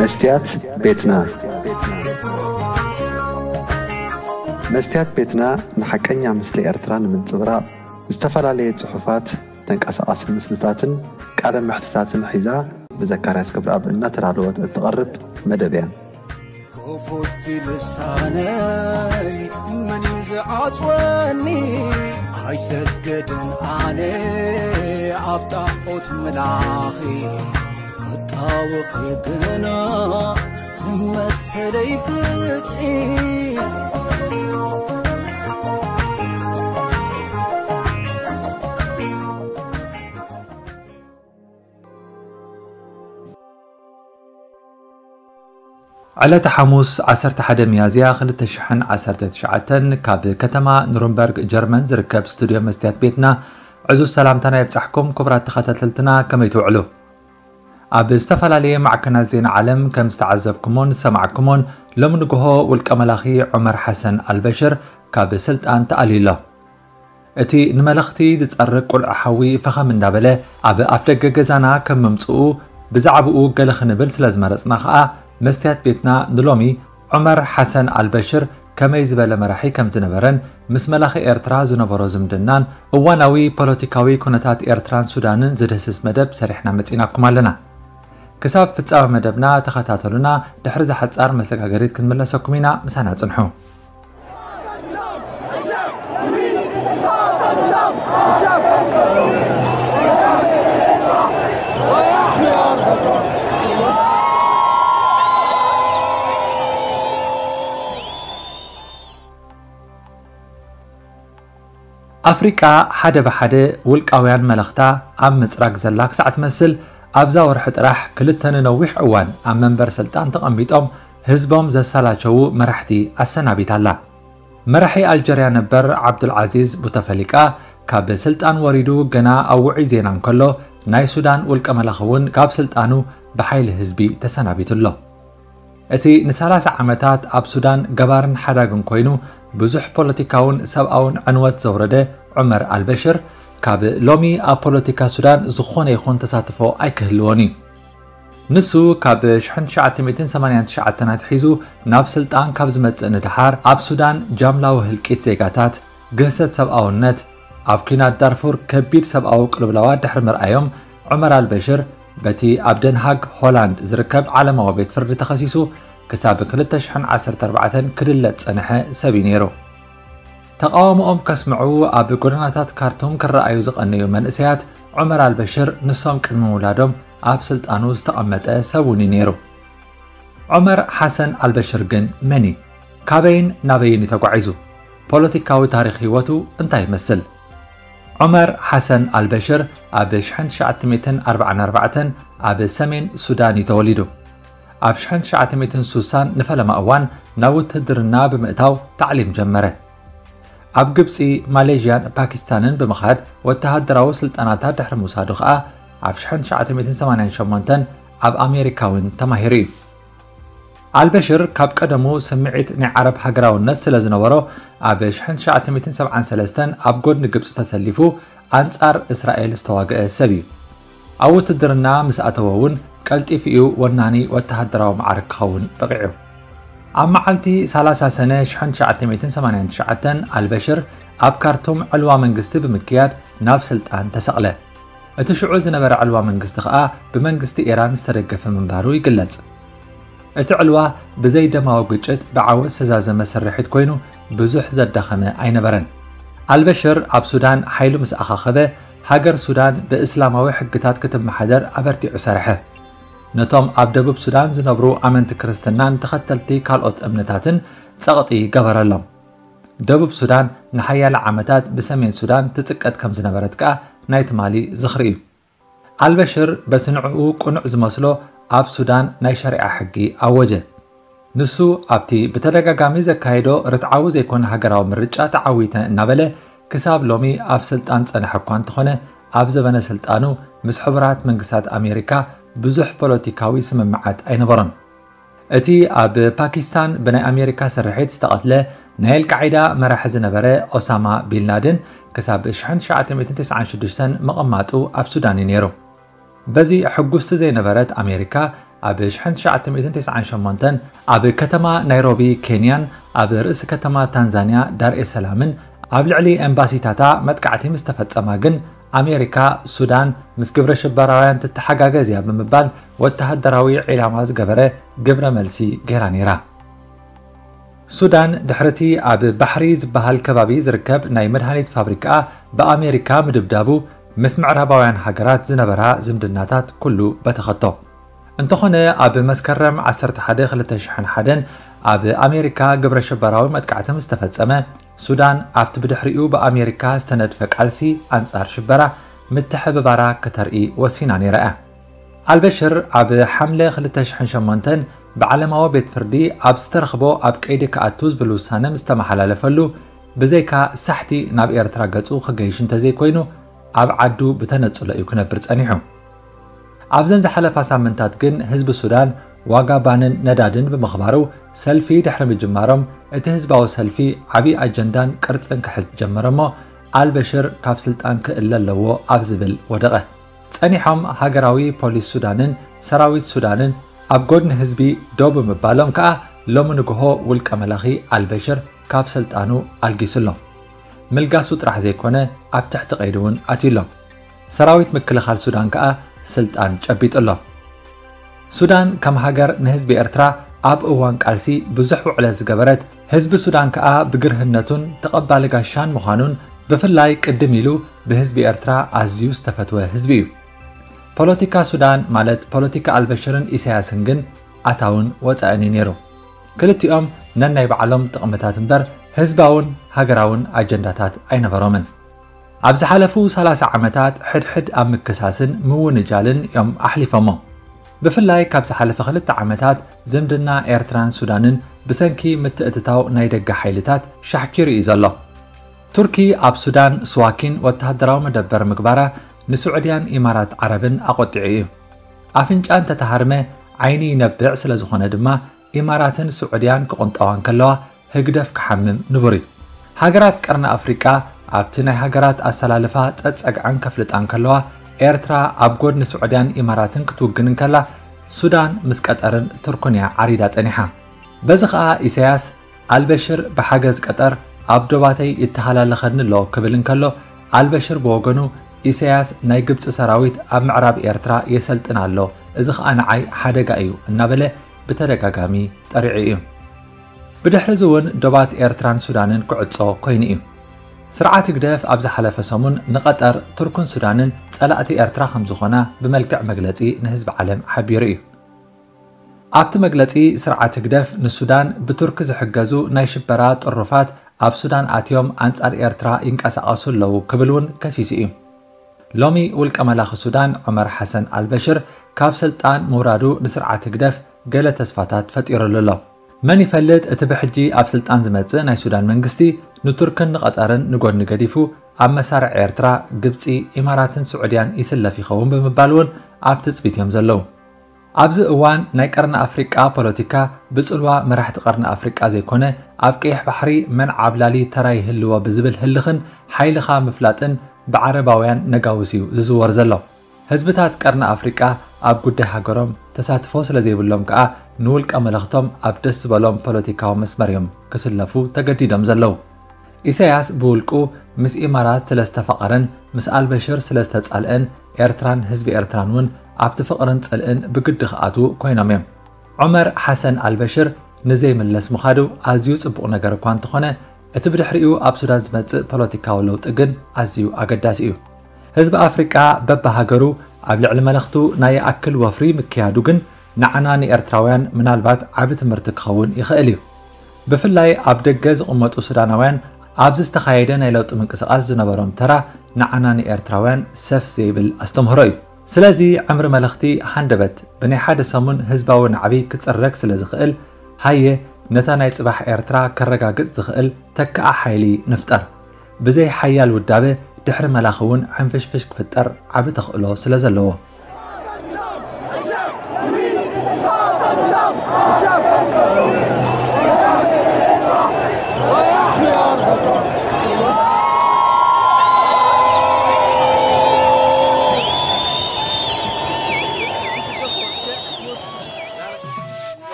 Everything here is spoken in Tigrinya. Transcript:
መስትያት ቤትና። መስትያት ቤትና ንሓቀኛ ምስሊ ኤርትራ ንምንጽብራቕ ዝተፈላለየ ጽሑፋት፣ ተንቀሳቓሲ ምስልታትን ቃለ መሕትታትን ሒዛ ብዘካርያስ ክብረኣብ እናተዳለወት እትቐርብ መደብ እያ። ክፉት ልሳነይ መን እዩ ዝዓጽወኒ? ኣይሰግድን ኣነ ኣብ ጣዖት ምላኺ፣ ክጣወኺ ግና መሰለይ ፍትሒ። ዕለተ ሓሙስ ዓሰርተ ሓደ ሚያዝያ ክልተ ሽሕን ዓሰርተ ትሽዓተን ካብ ከተማ ኑርንበርግ ጀርመን ዝርከብ ስቱድዮ መስትያት ቤትና ዕዙዝ ሰላምታና ይብጻሕኩም። ክቡራት ተኸታተልትና፣ ከመይ ትውዕሉ? ኣብ ዝተፈላለየ ማዕከናት ዜና ዓለም ከም ዝተዓዘብኩሞን ዝሰማዕኩሞን፣ ሎሚ ንግሆ ውልቀ መላኺ ዑመር ሓሰን ኣልበሽር ካብ ስልጣን ተኣልዩ ኣሎ። እቲ ንመለኽቲ ዝጸርግ ቁልዒ ሓዊ ፈኸም እንዳበለ ኣብ ኣፍደገ ገዛና ከም ምምጽኡ፣ ብዛዕባኡ ገለ ክንብል ስለ ዝመረጽና ከኣ፣ መስትያት ቤትና ንሎሚ ዑመር ሓሰን ኣልበሽር ከመይ ዝበለ መራሒ ከም ዝነበረን ምስ መላኺ ኤርትራ ዝነበሮ ዝምድናን እዋናዊ ፖለቲካዊ ኩነታት ኤርትራን ሱዳንን ዝድህስስ መደብ ሰሪሕና መጺናኩም ኣለና። ክሳብ ፍጻመ መደብና ተኸታተሉና። ድሕሪ እዛ ሓጻር መሰጋገሪት ክንምለሰኩም ኢና። ምሳና ጽንሑ። ኣፍሪቃ ሓደ ብሓደ ውልቃውያን መለኽታ ኣብ ምጽራግ ዘላ ክሳዕ ትመስል፣ ኣብዛ ወርሒ ጥራሕ ክልተ ንነዊሕ እዋን ኣብ መንበር ስልጣን ተቐሚጦም ህዝቦም ዘሰላቸዉ መራሕቲ ኣሰናቢታ ኣላ። መራሒ ኣልጀርያ ነበር ዓብዱልዓዚዝ ቡተፈሊቃ ካብ ስልጣን ወሪዱ ገና ኣብ ውዑይ ዜና እንከሎ፣ ናይ ሱዳን ውልቀ መላኺ እውን ካብ ስልጣኑ ብሓይሊ ህዝቢ ተሰናቢቱ ኣሎ። እቲ ንሰላሳ ዓመታት ኣብ ሱዳን ገባርን ሓዳግን ኮይኑ ብዙሕ ፖለቲካውን ሰብኣውን ዕንወት ዘውረደ ዑመር ኣልበሽር፣ ካብ ሎሚ ኣብ ፖለቲካ ሱዳን ዝኾነ ይኹን ተሳትፎ ኣይክህልዎን እዩ። ንሱ ካብ ሽሕን ትሽዓተ ሚእትን ሰማንያን ትሽዓተን ኣትሒዙ ናብ ስልጣን ካብ ዝመጽእ ንደሓር፣ ኣብ ሱዳን ጃምላዊ ህልቂት ዜጋታት፣ ግህሰት ሰብኣውነት፣ ኣብ ኲናት ዳርፉር ከቢድ ሰብኣዊ ቅልውላዋት ድሕሪ ምርኣዮም፣ ዑመር ኣልበሽር በቲ ኣብ ደንሃግ ሆላንድ ዝርከብ ዓለማዊ ቤት ፍርዲ ተኸሲሱ ክሳብ ክልተ ሽሕን ዓሰርተ ኣርባዕተን ክድለጥ ዝጸንሐ ሰብ እዩ ነይሩ። ተቓውሞኦም ከስምዑ ኣብ ጎደናታት ካርቱም ክረኣዩ ዝቐነዩ መንእሰያት፣ ዑመር ኣልበሽር ንሶም ቅድሚ ምውላዶም ኣብ ስልጣኑ ዝተቐመጠ ሰብ እውን እዩ ነይሩ። ዑመር ሓሰን ኣልበሽር ግን መን እዩ? ካበይን ናበይን እዩ ተጓዒዙ? ፖለቲካዊ ታሪኽ ህይወቱ እንታይ ይመስል? ዑመር ሓሰን ኣልበሽር ኣብ ሽሕን ትሽዓተ ሚእትን ኣርባዓን ኣርባዕተን ኣብ ሰሜን ሱዳን እዩ ተወሊዱ። ኣብ ሽሕን ትሽዓተ ሚእትን ሱሳን ንፈለማ እዋን ናብ ውትህድርና ብምእታው ታዕሊም ጀመረ። ኣብ ግብጺ፣ ማሌዥያን ፓኪስታንን ብምኻድ ወተሃደራዊ ስልጠናታት ድሕሪ ምውሳዱ ኸኣ፣ ኣብ ሽሕን ትሽዓተ ሚእትን ሰማንያን ሸሞንተን ኣብ ኣሜሪካ እውን ተማሂሩ እዩ። ኣልበሽር ካብ ቀደሙ ስምዒት ናይ ዓረብ ሃገራውነት ስለ ዝነበሮ፣ ኣብ ሽሕን ትሽዓተ ሚእትን ሰብዓን ሰለስተን ኣብ ጎድኒ ግብጺ ተሰሊፉ ኣንጻር እስራኤል ዝተዋግአ ሰብ እዩ። ኣብ ውትድርና ምስ ኣተወ እውን ቀልጢፉ እዩ ወናኒ ወተሃደራዊ መዓርግ ክኸውን በቒዑ። ኣብ መዓልቲ ሰላሳ ሰነ ሽሕን ትሽዓተ ሚእትን ሰማንያን ትሽዓተን ኣልበሽር ኣብ ካርቱም ዕልዋ መንግስቲ ብምክያድ ናብ ስልጣን ተሰቕለ። እቲ ሽዑ ዝነበረ ዕልዋ መንግስቲ ኸኣ ብመንግስቲ ኢራን ዝተደገፈ ምንባሩ ይግለጽ። እቲ ዕልዋ ብዘይ ደማዊ ግጭት ብዓወት ዝተዛዘመ ስርሒት ኮይኑ ብዙሕ ዘዳኸመ ኣይነበረን። ኣልበሽር ኣብ ሱዳን ሓይሉ ምስ ኣኻኸበ፣ ሃገር ሱዳን ብእስላማዊ ሕግታት ክትመሓደር ኣበርቲዑ ሰርሐ። ነቶም ኣብ ደቡብ ሱዳን ዝነብሩ ኣመንቲ ክርስትናን ተኸተልቲ ካልኦት እምነታትን ጸቕጢ ገበረሎም። ደቡብ ሱዳን ንሓያለ ዓመታት ብሰሜን ሱዳን ትጽቀጥ ከም ዝነበረት ከኣ ናይ ትማሊ ዝኽሪ እዩ። ኣልበሽር በቲ ንዕኡ ቅኑዕ ዝመስሎ ኣብ ሱዳን ናይ ሸሪዓ ሕጊ ኣወጀ። ንሱ ኣብቲ ብተደጋጋሚ ዘካየዶ ርትዓዊ ዘይኮነ ሃገራዊ ምርጫ ተዓዊተ እናበለ ክሳብ ሎሚ ኣብ ስልጣን ጸንሐ እኳ እንተኾነ፣ ኣብ ዘበነ ስልጣኑ ምስ ሕቡራት መንግስታት ኣሜሪካ ብዙሕ ፖለቲካዊ ስምምዓት ኣይነበሮን። እቲ ኣብ ፓኪስታን ብናይ ኣሜሪካ ስርሒት ዝተቐትለ ናይ ኣልቃዒዳ መራሒ ዝነበረ ኦሳማ ቢን ላደን ክሳብ ሽሕን ትሽዓተ ሚእትን ተስዓን ሽዱሽተን ምቕማጡ ኣብ ሱዳን እዩ ነይሩ። በዚ ሕጉስቲ ዘይነበረት ኣሜሪካ፣ ኣብ ሽሕን ትሽዓተ ሚእትን ተስዓን ሸሞንተን ኣብ ከተማ ናይሮቢ ኬንያን ኣብ ርእሲ ከተማ ታንዛንያ ዳርኤ ሰላምን ኣብ ልዕሊ ኤምባሲታታ መጥቃዕቲ ምስ ተፈጸማ ግን ኣሜሪካ ሱዳን ምስ ግብረ ሽበራውያን ትተሓጋገዝ እያ ብምባል ወተሃደራዊ ዒላማ ዝገበረ ግብረ መልሲ ገይራ ነይራ። ሱዳን ድሕርቲ ኣብ ባሕሪ ዝበሃል ከባቢ ዝርከብ ናይ መድሃኒት ፋብሪካ ብኣሜሪካ ምድብዳቡ ምስ ምዕራባውያን ሃገራት ዝነበራ ዝምድናታት ኩሉ በተኸቶ። እንተኾነ ኣብ መስከረም ዓሰርተ ሓደ ክልተ ሽሕን ሓደን ኣብ ኣሜሪካ ግብረ ሽበራዊ መጥቃዕቲ ምስ ተፈጸመ ሱዳን ኣብቲ ብድሕሪኡ ብኣሜሪካ ዝተነድፈ ቃልሲ ኣንጻር ሽበራ ምትሕብባራ ክተርኢ ወሲና ነይራ እያ። ኣልበሽር ኣብ ሓምለ ክልተ ሽሕን ሸሞንተን ብዓለማዊ ቤት ፍርዲ ኣብ ዝተረኽቦ ኣብ ቀይዲ ክኣቱ ዝብል ውሳነ ምስ ተመሓላለፈሉ ብዘይካ ሳሕቲ ናብ ኤርትራ ገጹ ክገይሽ እንተዘይኮይኑ ኣብ ዓዱ ብተነጽሎ እዩ ክነብር ጸኒሑ። ኣብዘን ዝሓለፋ ሳምንታት ግን ህዝቢ ሱዳን ዋጋ ባንን ነዳድን ብምኽባሩ ሰልፊ ድሕሪ ምጅማሮም እቲ ህዝባዊ ሰልፊ ዓብዪ ኣጀንዳን ቅርጽን ክሕዝ ጀመረ እሞ ኣልበሽር ካብ ስልጣን ክእለ ኣለዎ ኣብ ዝብል ወደቐ። ጸኒሖም ሃገራዊ ፖሊስ ሱዳንን ሰራዊት ሱዳንን ኣብ ጎድኒ ህዝቢ ደው ብምባሎም ከኣ ሎሚ ንግሆ ውልቀ መላኺ ኣልበሽር ካብ ስልጣኑ ኣልጊሱ ኣሎ። ምልጋሱ ጥራሕ ዘይኮነ ኣብ ትሕቲ ቀይዲ እውን ኣትዩ ኣሎ። ሰራዊት ምክልኻል ሱዳን ከኣ ስልጣን ጨቢጡ ኣሎ። ሱዳን ከም ሃገር ንህዝቢ ኤርትራ ኣብ እዋን ቃልሲ ብዙሕ ውዕለት ዝገበረት፣ ህዝቢ ሱዳን ከኣ ብግርህነቱን ተቐባሊ ጋሻን ምዃኑን ብፍላይ ቅድም ኢሉ ብህዝቢ ኤርትራ ኣዝዩ ዝተፈትወ ህዝቢ እዩ። ፖለቲካ ሱዳን ማለት ፖለቲካ ኣልበሽርን ኢሳያስን ግን ኣታውን ወጻእን እዩ ነይሩ። ክልቲኦም ነናይ ባዕሎም ጥቕምታት እምበር ህዝባውን ሃገራውን ኣጀንዳታት ኣይነበሮምን። ኣብ ዝሓለፉ ሰላሳ ዓመታት ሕድሕድ ኣብ ምክሳስን ምውንጃልን እዮም ኣሕሊፎሞ። ብፍላይ ካብ ዝሓለፈ ክልተ ዓመታት ዝምድና ኤርትራን ሱዳንን ብሰንኪ ምትእትታው ናይ ደገ ሓይልታት ሻሕኪሩ እዩ ዘሎ። ቱርኪ ኣብ ሱዳን ስዋኪን ወተሃደራዊ መደበር ምግባራ ንስዑድያን ኢማራት ዓረብን ኣቖጢዑ እዩ። ኣፍንጫ እንተተሃርመ ዓይኒ ይነብዕ ስለ ዝኾነ ድማ ኢማራትን ስዑድያን ክቕንጠዋ እንከለዋ ህግደፍ ክሓምም ንቡር እዩ። ሃገራት ቀርኒ ኣፍሪቃ ኣብቲ ናይ ሃገራት ኣሰላልፋ ጸጸግዐን ከፍልጣ እንከለዋ ኤርትራ ኣብ ጎድኒ ስዑድያን ኢማራትን ክትውግን እንከላ ሱዳን ምስ ቀጠርን ቱርክን እያ ዓሪዳ ጸኒሓ። በዚ ኸኣ ኢሳያስ ኣልበሽር ብሓገዝ ቀጠር ኣብ ዶባተይ ይተሃላለኸኒ ኣሎ ክብል እንከሎ ኣልበሽር ብወገኑ ኢሳያስ ናይ ግብጺ ሰራዊት ኣብ ምዕራብ ኤርትራ የሰልጥን ኣሎ፣ እዚ ኸኣ ንዓይ ሓደጋ እዩ እናበለ ብተደጋጋሚ ጠሪዑ እዩ። ብድሕሪ እዚ እውን ዶባት ኤርትራን ሱዳንን ክዕጾ ኮይኑ እዩ። ስርዓት ህግደፍ ኣብ ዝሓለፈ ሰሙን ንቐጠር ቱርክን ሱዳንን ጸላእቲ ኤርትራ ከም ዝኾና ብመልክዕ መግለጺ ንህዝቢ ዓለም ሓቢሩ እዩ። ኣብቲ መግለጺ ስርዓት ህግደፍ ንሱዳን ብቱርኪ ዝሕገዙ ናይ ሽበራ ጥሩፋት ኣብ ሱዳን ኣትዮም ኣንጻር ኤርትራ ይንቀሳቐሱ ኣለዉ ክብል እውን ከሲሱ እዩ። ሎሚ ውልቀ መላኺ ሱዳን ዑመር ሓሰን ኣልበሽር ካብ ስልጣን ምውራዱ ንስርዓት ህግደፍ ገለ ተስፋታት ፈጢሩሉ ኣሎ። መን ይፈልጥ እቲ ብሕጂ ኣብ ስልጣን ዝመጽእ ናይ ሱዳን መንግስቲ ንቱርክን ንቐጠርን ንጎድኒ ገዲፉ ኣብ መሳርዕ ኤርትራ፣ ግብጺ፣ ኢማራትን ስዑድያን ይስለፍ ይኸውን ብምባል እውን ኣብ ትጽቢት እዮም ዘለዉ። ኣብዚ እዋን ናይ ቀርኒ ኣፍሪቃ ፖለቲካ ብጽልዋ መራሕቲ ቀርኒ ኣፍሪቃ ዘይኮነ ኣብ ቀይሕ ባሕሪ መን ዓብላሊ ተራ ይህልዎ ብዝብል ህልኽን ሓይልኻ ምፍላጥን ብዓረባውያን ነጋውስ እዩ ዝዝወር ዘሎ። ህዝብታት ቀርኒ ኣፍሪቃ ኣብ ጉዳይ ሃገሮም ተሳትፎ ስለ ዘይብሎም ከኣ ንውልቀ መለኽቶም ኣብ ደስ ዝበሎም ፖለቲካዊ መስመር እዮም ክስለፉ ተገዲዶም ዘለዉ። ኢሳያስ ብውልቁ ምስ ኢማራት ስለ ዝተፋቐረን ምስ ኣልበሽር ስለ ዝተጻልአን ኤርትራን ህዝቢ ኤርትራን እውን ኣብቲ ፍቕርን ጽልእን ብግዲ ክኣትዉ ኮይኖም እዮም። ዑመር ሓሰን ኣልበሽር ንዘይምለስ ምኻዱ ኣዝዩ ጽቡቕ ነገር እኳ እንተኾነ እቲ ብድሕሪኡ ኣብ ሱዳን ዝመጽእ ፖለቲካዊ ለውጢ ግን ኣዝዩ ኣገዳሲ እዩ። ህዝቢ ኣፍሪቃ በብሃገሩ ኣብ ልዕሊ መለኽቱ ናይ ይኣክል ወፍሪ ምክያዱ ግን ንዓና ንኤርትራውያን ምናልባት ዓቢ ትምህርቲ ክኸውን ይኽእል እዩ። ብፍላይ ኣብ ደገ ዝቕመጡ ሱዳናውያን ኣብዚ ዝተኻየደ ናይ ለውጢ ምንቅስቓስ ዝነበሮም ተራ ንዓና ንኤርትራውያን ሰፍ ዘይብል ኣስተምህሮ እዩ። ስለዚ ዕምሪ መለኽቲ ሃንደበት ብናይ ሓደ ሰሙን ህዝባዊ ናዕቢ ክጽረግ ስለ ዝኽእል ሃየ ነታ ናይ ጽባሕ ኤርትራ ከረጋግጽ ዝኽእል ተካኣ ሓይሊ ንፍጠር። ብዘይ ሓያል ውዳበ ድሕሪ መላኺ እውን ሕንፍሽፍሽ ክፍጠር ዓቢ ተኽእሎ ስለ ዘለዎ።